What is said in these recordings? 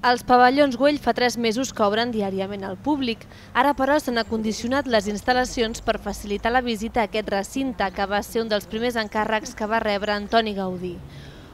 Els pavellons Güell fa 3 mesos que obren diàriament al públic. Ara, però, s'han acondicionat les instal·lacions per facilitar la visita a aquest recinte, que va ser un dels primers encàrrecs que va rebre Antoni Gaudí.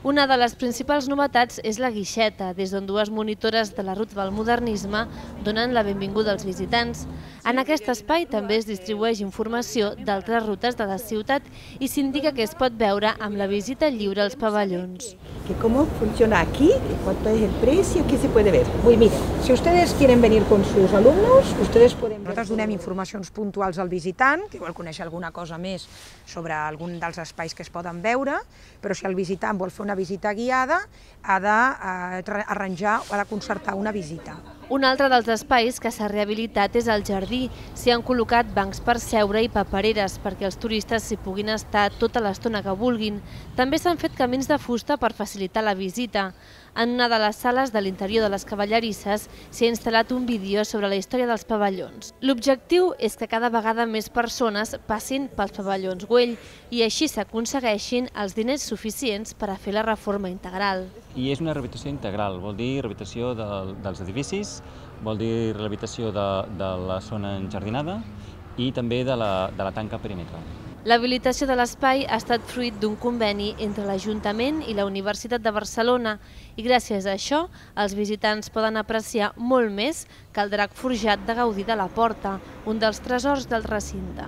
Una de les principals novetats és la guixeta, des d'on 2 monitores de la ruta del modernisme donen la benvinguda als visitants. En aquest espai també es distribueix informació d'altres rutes de la ciutat i s'indica que es pot veure amb la visita lliure als pavellons. ¿Cómo funciona aquí? ¿Cuánto es el precio? ¿Qué se puede ver? Muy bien, si ustedes quieren venir con sus alumnos, ustedes pueden ver. Nosaltres donem informacions puntuals al visitant, que vol conèixer alguna cosa més sobre algun dels espais que es poden veure, però si el visitant vol fer una visita guiada, ha d'arranjar o ha de concertar una visita. Un altre dels espais que s'ha rehabilitat és el jardí. S'hi han col·locat bancs per seure i papereres perquè els turistes s'hi puguin estar tota l'estona que vulguin. També s'han fet camins de fusta per facilitar la visita. En una de les sales de l'interior de les cavallerisses s'hi ha instal·lat un vídeo sobre la història dels pavellons. L'objectiu és que cada vegada més persones passin pels pavellons Güell i així s'aconsegueixin els diners suficients per a fer la reforma integral. I és una rehabilitació integral, vol dir rehabilitació dels edificis, vol dir rehabilitació de la zona enjardinada i també de la tanca perimetral. L'habilitació de l'espai ha estat fruit d'un conveni entre l'Ajuntament i la Universitat de Barcelona i gràcies a això els visitants poden apreciar molt més que el drac forjat de Gaudí de la Porta, un dels tresors del recinte.